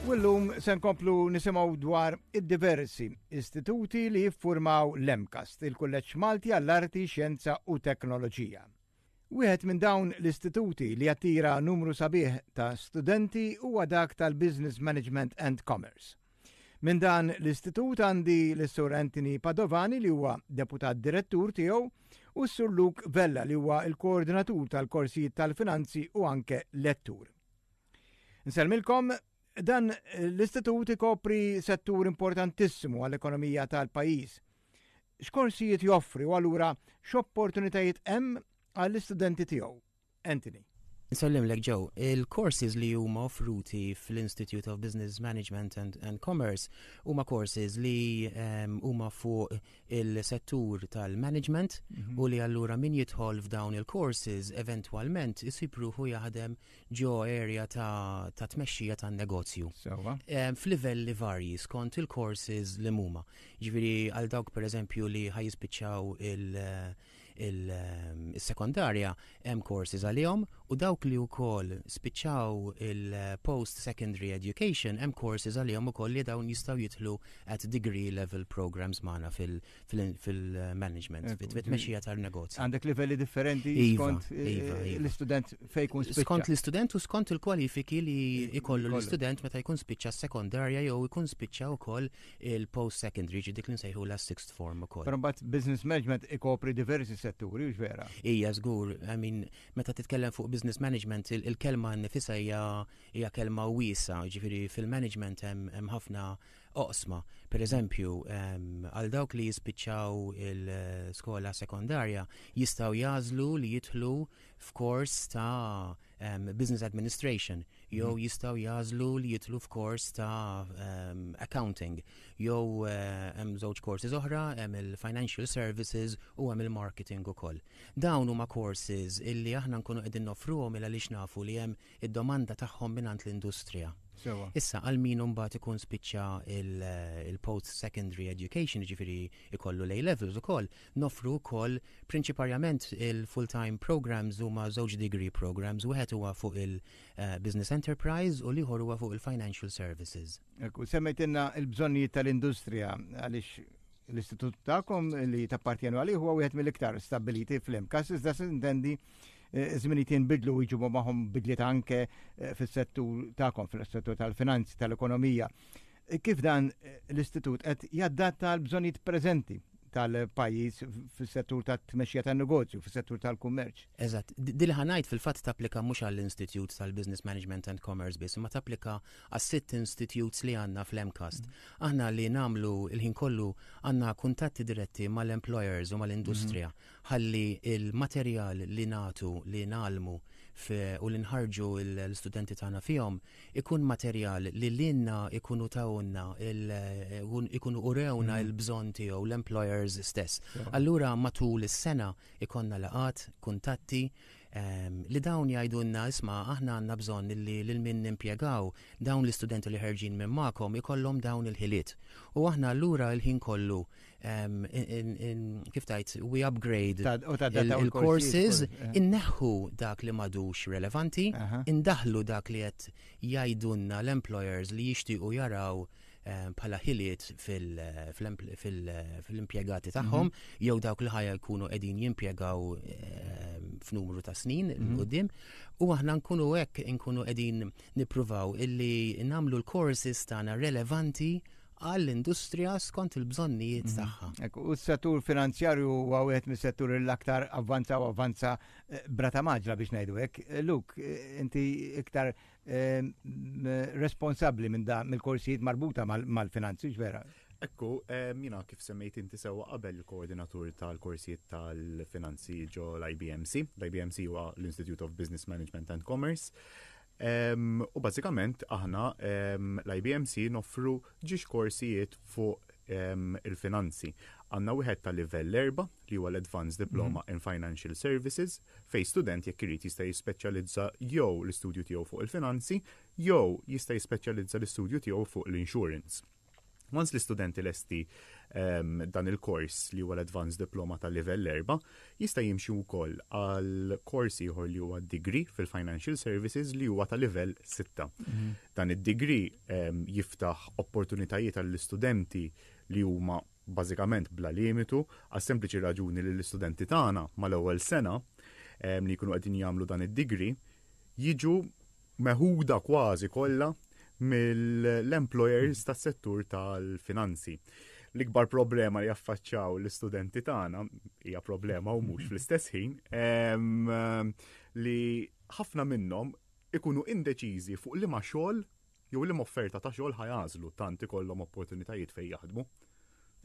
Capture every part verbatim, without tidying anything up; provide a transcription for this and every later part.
U llum se nkomplu nisimgħu dwar id-diversi istituti li jiffurmaw l-MCAST, il-Kulleġġ Malti għall-Arti, Xjenza u Teknoloġija. Wieħed minn dawn l-istituti li attira numru sabiħ ta' studenti huwa dak tal-Business Management and Commerce. Minn dan l-istitut għandi l-Sur Anthony Padovani, li huwa deputat direttur tiegħu, u s-Sur Luke Vella, li huwa il-koordinatur tal-korsijiet tal-finanzi u anke lettur. Nsellmilkom. Dan l-istitut ikopri settur importantissimu għall-ekonomija tal-pajjiż. X'korsijiet joffri u allura x'opportunitajiet hemm għall-istudenti tiegħu? Anthony. Nsellimlek, Joe. Il-courses li huma offruti fl-Institute of Business Management and, and Commerce huma courses li um, huma fuq il-settur tal-management mm -hmm. u li allura min jidħol f'dawn il-courses eventwalment isib ruħu jaħdem ġo area ta', ta tmexxija tan-negozju. Um, F'livelli varji skont il-courses li huma. Ġifieri għal dawk, per eżempju, li ħa jispiċċaw il-sekondarja hemm courses għalihom u dawk li wkoll spiċċaw il-post secondary education hemm courses għalihom ukoll li dawn jistgħu jidħlu at degree level programs magħna fil-management, fit-tmexxija tal-negozju. Għandek livelli differenti iva, skont eh, iva, iva. l-istudent fejn jkun spiċċa. Skont l-istudent u skont il-kwalifiki li ikollu l-istudent meta jkun spiċċa sekondarja jew jkun spiċċa wkoll il-post secondary, ġi dik li nsejħu la sixth form ukoll. Però mbagħad business management ikopri diversi setturi, hux vera? Ija, żgur, I mean, meta titkellem fuq business management, il-kelma nifisha hija hija kelma wiesgħa, ġifieri fil-management hemm ħafna oqsma. Per eżempju, għal dawk li jispiċċaw il-skola sekondarja jistgħu jagħżlu li jidħlu f'kors ta' um, business administration, jew mm. jistgħu jagħżlu li jidħlu f'kors ta' um, accounting, jew uh, hemm żewġ courses oħra, hemm il-financial services u hemm il-marketing ukoll. Dawn huma courses illi aħna nkunu qegħdin noffruhom il għaliex nafu li hemm id-domanda tagħhom mingħand l-industrija. Issa, għal min mbagħad ikun spiċċa il-post secondary education, ġifieri ikollu l-A levels ukoll, noffru wkoll prinċiparjament il-full-time programs huma żewġ degree programs, wieħed huwa fuq il-business enterprise u l-ieħor huwa fuq il-financial services. Ekku, semmejtilna il-bżonnijiet tal-industrija, għaliex l-istitut tagħkom li tappartjenu għalih huwa wieħed mill-iktar stabiliti fl-MCAST, iżda intendi eh, żminijiet jinbidlu u jġibu magħhom bidliet anke eh, fis-settur tagħkom, fis-settur tal-finanzi, tal-ekonomija. Eh, kif dan l-istitut qed jadatta l-bżonnijiet preżenti tal-pajjiż fis-settur tat-tmexxija tan-negozju, fis-settur tal-kummerċ? Eżatt, din li ħa ngħid fil-fatt tapplika mhux għall-Institute tal-Business Management and Commerce biss, ma tapplika għas-sitt institutes li għandna fl-MCAST. Mm. Aħna li nagħmlu il-ħin kollu għandna kuntatti diretti mal-employers u mal-industrija mm. ħalli il-materjal li nagħtu, li ngħallmu u li nħarġu l-studenti tagħna fihom ikun materjal li lilna ikunu tawna, ikunu urewna mm. il-bżonn tiegħu l-employers stess. Allura matul is-sena ikollna laqgħat, kuntatti um, li dawn jgħidulna, "Isma', aħna għandna bżonn li lil min nimpjegaw, dawn l-istudenti li ħerġin minn magħkom ikollhom dawn il-ħiliet." U aħna allura il-ħin kollu um, kif tgħid, we upgrade il-courses, eh. inneħħu dak li m'għadux relevanti, indaħlu dak li qed jgħidulna l-employers li jixtiequ jaraw eh, bħala ħiliet fil-impjegati tagħhom mhm. jew dawk li ħa jkunu qegħdin jimpjegaw eh, f'numru ta' snin mhm. quddiem, u aħna nkunu hekk nkunu qegħdin nippruvaw illi nagħmlu l-courses tagħna relevanti għall-industrija skont il-bżonnijiet mhm. tagħha. U s-settur finanzjarju huwa wieħed mis-settur l-aktar avvanza u avvanza eh, b'rata mgħaġġla, biex ngħidu hekk. Eh, Luke, eh, inti iktar responsabbli minn da mill-korsijiet marbuta mal-finanzi, vera? Ekku, jiena, kif semmejt inti sewa qabel, il-koordinatur tal-korsijiet tal-finanzi ġo l-I B M C. L-I B M C huwa l-Institute of Business Management and Commerce. U bażikament aħna l-I B M C noffru żewġ korsijiet fuq il-finanzi. Għandna wieħed ta' livell erba, li huwa l-Advanced Diploma mm -hmm. in Financial Services, fej student jekk irid jista' jispeċjalizza jew l-istudju tiegħu fuq il-finanzi jew jista' jispeċjalizza l-istudju tiegħu fuq l-insurance. Once l-istudenti lesti um, dan il-kors li huwa l-Advanced Diploma tal livell erba, jista' jimxi wkoll għal kors ieħor li huwa degree fil-Financial Services li huwa ta' livell sitta. Mm -hmm. Dan id-degree um, jiftaħ opportunitajiet għall-istudenti li huma bażikament bla limitu, għas sempliċi raġuni li l-istudenti tagħna mal-ewwel sena um, li jkunu qegħdin jagħmlu dan id-degree jiġu meħuda kważi kollha mill-employers tas-settur tal-finanzi. L-ikbar problema li jaffaċċaw l-istudenti tagħna hija problema u mhux fl-istess ħin li ħafna minnhom ikunu indeċiżi fuq liema xogħol jew liema offerta ta' xogħol ħa jagħżlu, tant ikollhom opportunitajiet fejn jaħdmu.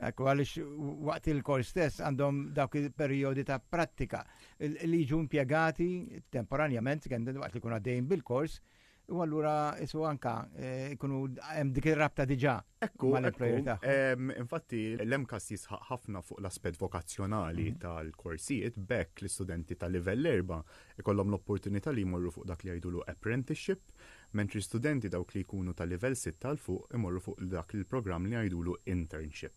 Ekku, għaliex waqt il-kors stess għandhom dawk il-perjodi ta' prattika li jiġu impjegati temporanjament, waqt li jkunu għaddejjin bil-kors, u allura isu anka jkunu hemm dik ir-rabta diġà. Ekku, ekku. Infatti l-M C A S jisħaq ħafna fuq l-aspett vokazzjonali mhm. tal-korsijiet, biex l-istudenti tal livell erba ikollhom l-opportunità li jmorru fuq dak li jgħidulu apprenticeship, mentri studenti dawk li jkunu tal livell sitta 'l fuq imorru fuq dak il-programm li jgħidulu internship.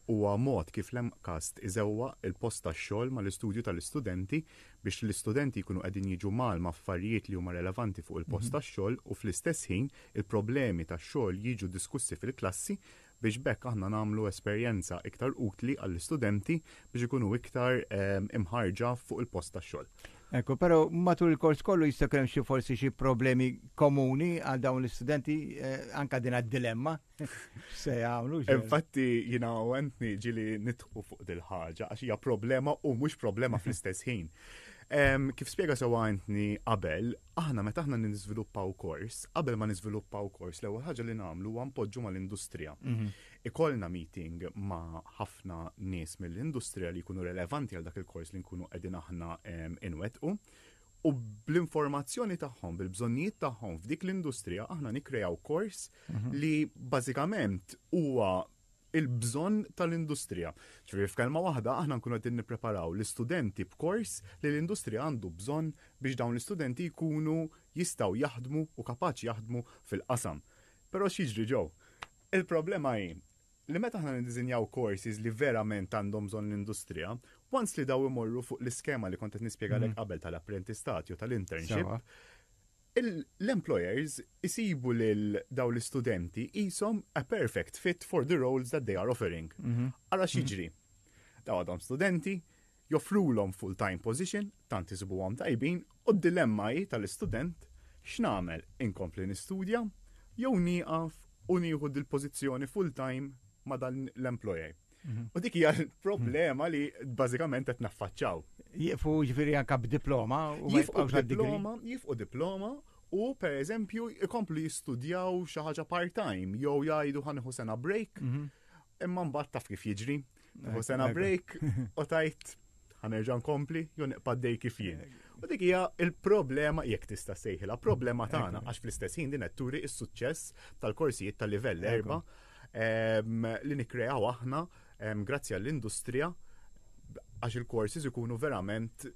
Huwa mod kif l-M C A S T iżewwaq il-post tax-xogħol mal-istudju tal-istudenti biex l-istudenti jkunu qegħdin jiġu mgħallma affarijiet li huma relevanti fuq il-post mhm. tax-xogħol u fl-istess ħin il-problemi tax-xogħol jiġu diskussi fil-klassi, biex b'hekk aħna nagħmlu esperjenza iktar utli għall-istudenti biex ikunu iktar imħarġa fuq il-post tax-xogħol. Ekku, pero matul il-kors kollu jista' jkun xi forsi xi problemi komuni għal dawn l-istudenti, eh, anka din dilemma se jagħmlu. Infatti jiena u Anthony ġieli nidħku fuq dil-ħaġa għax hija problema u mhux problema fl-istess ħin. Kif spjega sewa Anthony qabel, aħna meta aħna niżviluppaw kors, qabel ma niżviluppaw kors, l-ewwel ħaġa li nagħmlu huwa npoġġu mal-industrija. Mhm. Ikollna meeting ma' ħafna nies mill-industrija li jkunu relevanti għal dak il-kors li nkunu qegħdin aħna inwettqu. U bl-informazzjoni tagħhom, bil-bżonnijiet tagħhom f'dik l-industrija, aħna nikkrejaw kors mhm. li bażikament huwa il-bżonn tal-industrija. Ġifieri, f'kelma waħda, aħna nkunu qegħdin nippreparaw l-istudenti b'kors li l-industrija għandu bżonn biex dawn l-istudenti jkunu jistgħu jaħdmu u kapaċi jaħdmu fil-qasam. Però x'jiġri ġew? Il-problema hi li meta aħna niddisinjaw courses li verament għandhom bżonn l-industrija, once li daw imorru fuq l-iskema li kont qed nispjegalek mm. qabel tal-apprentistat jew tal-internship, l-employers isibu lil daw l-istudenti qishom a perfect fit for the roles that they are offering. Mhm. Ara x'jiġri. Daw għadhom studenti, joffrulhom full-time position, tant isibuhom tajbin, u d-dilemma hi tal-istudent: x'nagħmel, inkompli nistudja jew nieqaf u nieħu dil-pożizzjoni full-time ma' dan l-employer? Mhm. U dik hija l-problema li bażikament qed naffaċċaw. Jieqfu ġifieri anka b'diploma u ma jibqgħux diploma, jieqfu diploma u per eżempju ikomplu jistudjaw xi ħaġa part-time jew jgħidu ħa nieħu sena break, mhm. imma mbagħad taf kif jiġri. Nieħu sena break u tgħid ħa nerġa' nkompli jew nibqa' dej kif jien. U dik hija il-problema, jekk tista' sejħilha problema tagħna, għax fl-istess ħin din qed turi s-suċċess tal-korsijiet tal-livell erba li nikkreaw aħna grazzi għall-industrija, għax il-courses ikunu verament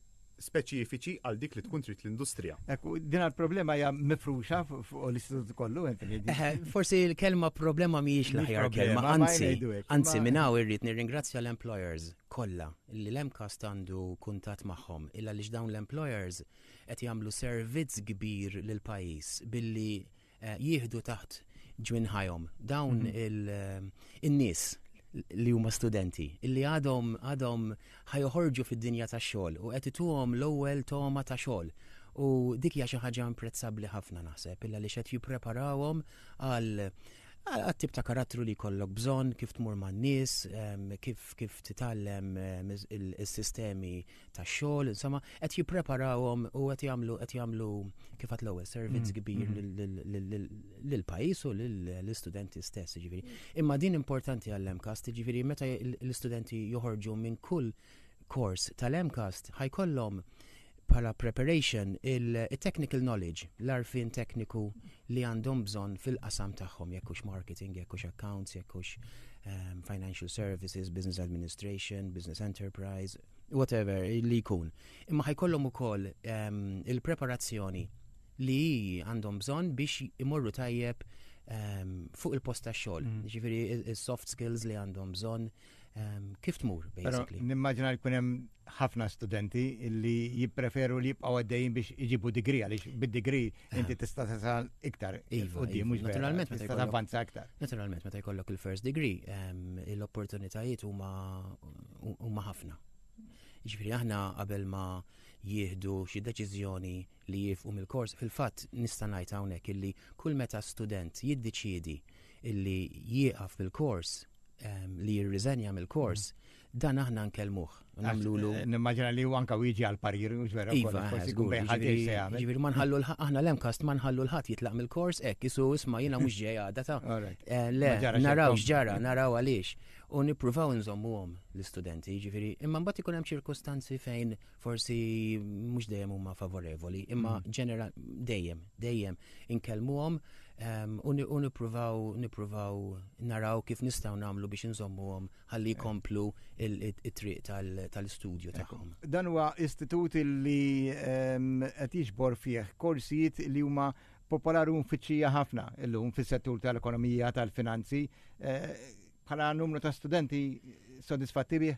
speċifiċi għal dik li tkun trid l-industrija. Ekku, din il-problema hija mifruxa fuq l-istitut kollu, Anthony? Forsi l-kelma problema mhijiex l-aħjar kelma, anzi, anzi minn hawn irrid nirringrazzja l-employers kollha li l-M C A S T għandu kuntatt magħhom, illa li dawn l-employers qed jagħmlu servizz kbir lil pajjiż billi eh, jieħdu taħt ġwinħajhom dawn mhm. eh, il-nies li huma studenti illi għadhom għadhom ħa joħorġu fid-dinja tax-xogħol u qed ituhom l-ewwel toma ta' xogħol. U dik hija xi ħaġa imprezzabbli ħafna, naħseb, illa li qed jippreparawhom għal għat-tip ta' karattru li jkollok bżonn, kif tmur man-nies, kif kif titgħallem il-sistemi ta' xogħol, insomma, qed jippreparawhom u qed jagħmlu qed jagħmlu kif għedt l-ewwel servizz mm, kbir mm. lill-pajjiż u lill-istudenti stess, ġifieri. Imma din importanti għall-M C A S T, ġifieri meta l-istudenti joħorġu minn kull kors tal-M C A S T ħa jkollhom bħala preparation il-technical knowledge, l-għarfien tekniku li għandhom bżonn fil-qasam tagħhom, jekk hux marketing, jekk hux accounts, jekk hux um, financial services, business administration, business enterprise, whatever li jkun. Imma ħa jkollhom ukoll um, il-preparazzjoni li għandhom bżonn biex imorru tajjeb um, fuq il-post tax-xogħol. Mm. Ġifieri il-soft skills li għandhom bżonn um, kif tmur, basically. Nimmaġina li jkun hemm ħafna studenti li jippreferu li jibqgħu għaddejjin biex iġibu degree, għaliex bid-degree inti tista' tasal iktar Iva, quddiem, iva. mhux vera, Naturalment, meta tista' jkollok- tavvanza aktar. Naturalment, meta jkollok il-first degree, um, l-opportunitajiet huma huma ħafna. Ġifieri aħna qabel ma jieħdu xi deċiżjoni li jieqfu mill-kors, fil-fatt nista' ngħid hawnhekk illi kull meta student jiddeċiedi illi jieqaf mill-kors, um, li jirriżenja mill-kors, dan aħna nkellmuh. Nagħmlulu Eh, Nimmaġina li hu anka jiġi għal parir, mhux vera, Iva, wkoll, forsi eh, jkun żgur, bejn ħadd ġifieri- se jagħmel. ġifieri ma nħallu l- aħna l-MCAST ma nħallu 'l ħadd jitlaq mill-kors hekk, isu isma' jiena mhux ġej għada ta' All right. Eh, Le, Ma ġara naraw xejn. x'ġara, naraw għaliex. U nippruvaw nżommuhom l-istudenti, ġifieri, imma mbagħad ikun hemm ċirkustanzi fejn forsi mhux dejjem huma favorevoli, imma Mm. ġeneral dejjem, dejjem inkellmuhom em, u ni- u nippruvaw nippruvaw naraw kif nistgħu nagħmlu biex nżommuhom ħalli jkomplu il- it-triq tal- tal-istudju tagħhom. Dan huwa istitut li ehm, qed jiġbor fih korsijiet li huma popolari u mfittxija ħafna illum fis-settur tal-ekonomija, tal-finanzi. Eh, Bħala numru ta' studenti sodisfatti bih?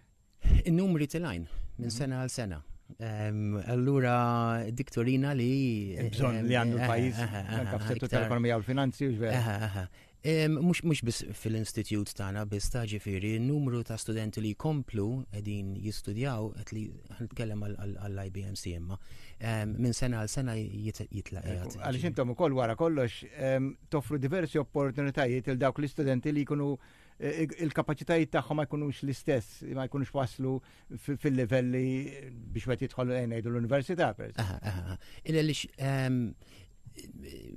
In-numri telgħin minn sena għal sena. Em, Allura dik turina li Il-bżonn li għandu l-pajjiż, Eh, eh, eh, anka fis-settur iktar- tal-ekonomija u l-finanzi, u vera. Aha, aha. Em, Mhux mhux biss fil-istitut tagħna biss ta' ġifieri, n-numru ta' studenti li jkomplu qegħdin jistudjaw qed li nitkellem għall-I B M C imma em, minn sena għal sena jit- jitla' qiegħed. Għaliex intom ukoll wara kollox ehm, toffru diversi opportunitajiet il dawk l-istudenti li jkunu eh, il-kapaċitajiet tagħhom ma jkunux l-istess, ma jkunux waslu fi- fil-livelli biex wieħed jidħol eh, ngħidu l-università per eżempju. Aha, aha, aha. Illa lix em,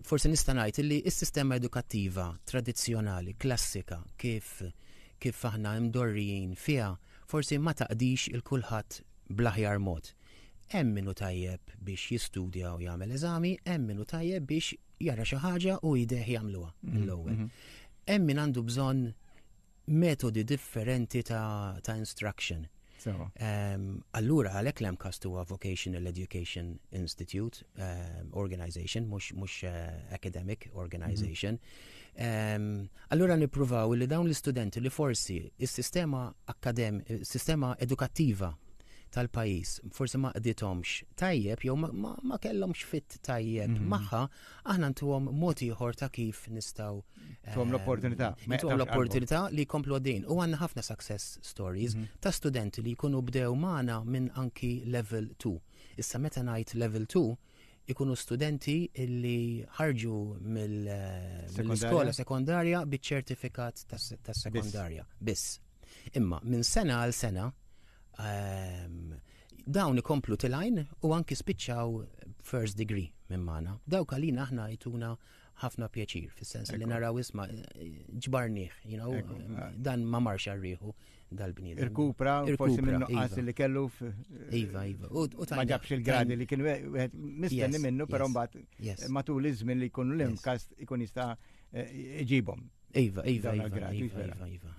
forsi nista' ngħid illi s-sistema edukattiva tradizzjonali, klassika, kif kif aħna mdorrijin fiha, forsi ma taqdix il kulħadd bl-aħjar mod. Hemm min hu tajjeb biex jistudja u jagħmel eżami, hemm min hu tajjeb biex jara xi ħaġa u jdejh jagħmluha mill-ewwel. Hemm min għandu bżonn metodi differenti ta', ta' instruction. Sewa. Um, allura għalhekk l-MCAST huwa Vocational Education Institute um, Organization, mhux mhux uh, academic organization. Um, allura nippruvaw li dawn l-istudenti li forsi is-sistema akadem, is-sistema edukattiva tal-pajjiż forsi ma qdithomx tajjeb jew ma, ma, ma kellhomx fit tajjeb mm -hmm. magħha, aħna ntuhom mod ieħor ta' kif nistgħu Tuhom l-opportunità. Ma Ntuhom jaqtawx l-opportunità li jkomplu għaddejn. U għandna ħafna success stories mm -hmm. ta' studenti li jkunu bdew magħna minn anki level two. Issa meta ngħid level two, ikunu studenti illi ħarġu mill-iskola sekondarja biċ-ċertifikat tas-sekondarja. Biss. Imma minn sena għal sena um, dawn ikomplu telgħin u anki spiċċaw first degree minn magħna. Dawk għalina aħna jtuna ħafna pjaċir, fis-sens li naraw isma' ġbarnieh, you know, dan ma marx għar-riħu dal-bniedem. Irkupra, forsi minn nuqqas li kellu. Iva, iva. U Ma ġabx il-gradi li kien wieħed mistenni minnu, però mbagħad matul iż-żmien li jkunu l-MCAST ikun jista' iġibhom. Iva, iva, iva, iva, iva.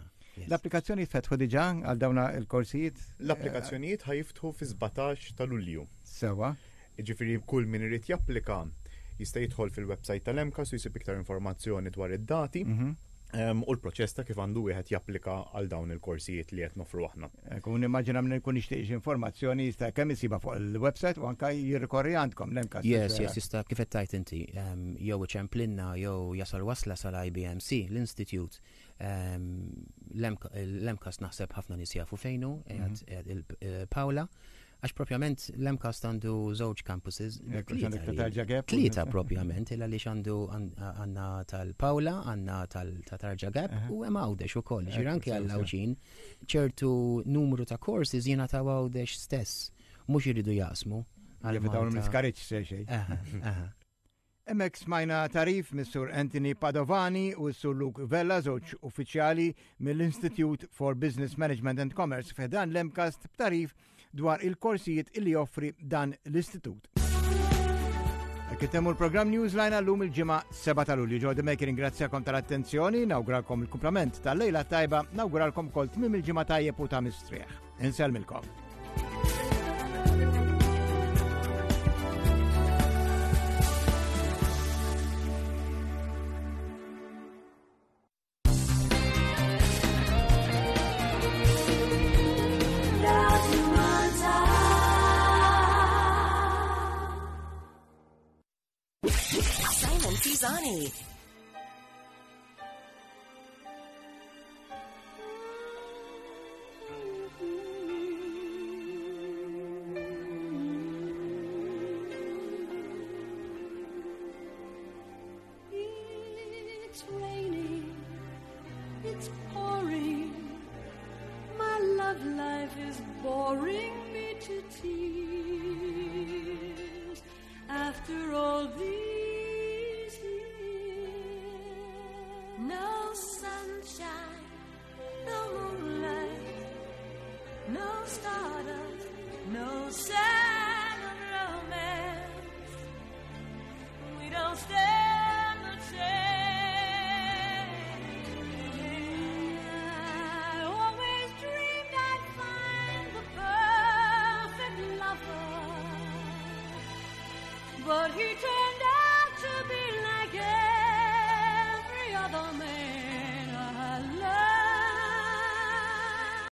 L-applikazzjoni fetħu diġà għal dawna il-korsijiet? L-applikazzjonijiet ħa jiftħu fi sbatax ta' Lulju. Sewa. Ġifieri kull min irid japplika jista' jidħol fil-website tal-MCAST u jsib iktar informazzjoni dwar id-dati mhm. u l-proċess ta' kif għandu wieħed japplika għal dawn il-korsijiet li qed nofru aħna. Kun immaġina minn ikun jixtieq informazzjoni jista' kemm isiba fuq il-website u anka jirrikorri għandkom l-MCAST. Yes, yes, jista' kif qed tgħid inti, jew iċemplinna jew jasal wasla sal-I B M C, l-Institute. L-MCAST naħseb ħafna nies jafu fejn hu, mhm. Paola, għax propjament l-MCAST għandu żewġ campuses. Tlieta propjament, illa li għandu għandna tal-Paola, għandna tal-Tarġa Gap u hemm Għawdex ukoll. Ġifieri anke għall-Għawdxin ċertu numru ta' courses jingħataw Għawdex stess, mhux iridu jaqsmu. Jevitaw l-iskariċ se xejn. Hemmhekk smajna tagħrif mis-Sur Anthony Padovani u s-Sur Luke Vella, żewġ uffiċjali mill-Institute for Business Management and Commerce fi ħdan l-MCAST, b'tagħrif dwar il-korsijiet illi joffri dan l-istitut. Intemmu l-programm Newsline għallum il-Ġimgħa sebgħa ta' Lulju. Ġo Demek ringrazzjakom tal-attenzjoni, nawguralkom il-kumplament tal-lejla tajba, nawguralkom kol tmim il-ġimgħa tajjeb u ta' mistrieħ. Insellmilkom. Simon Pisani. It's raining, it's pouring. My love life is boring me to tears. After all these years, no sunshine, no moonlight, no stardust, no sign of romance. We don't stand.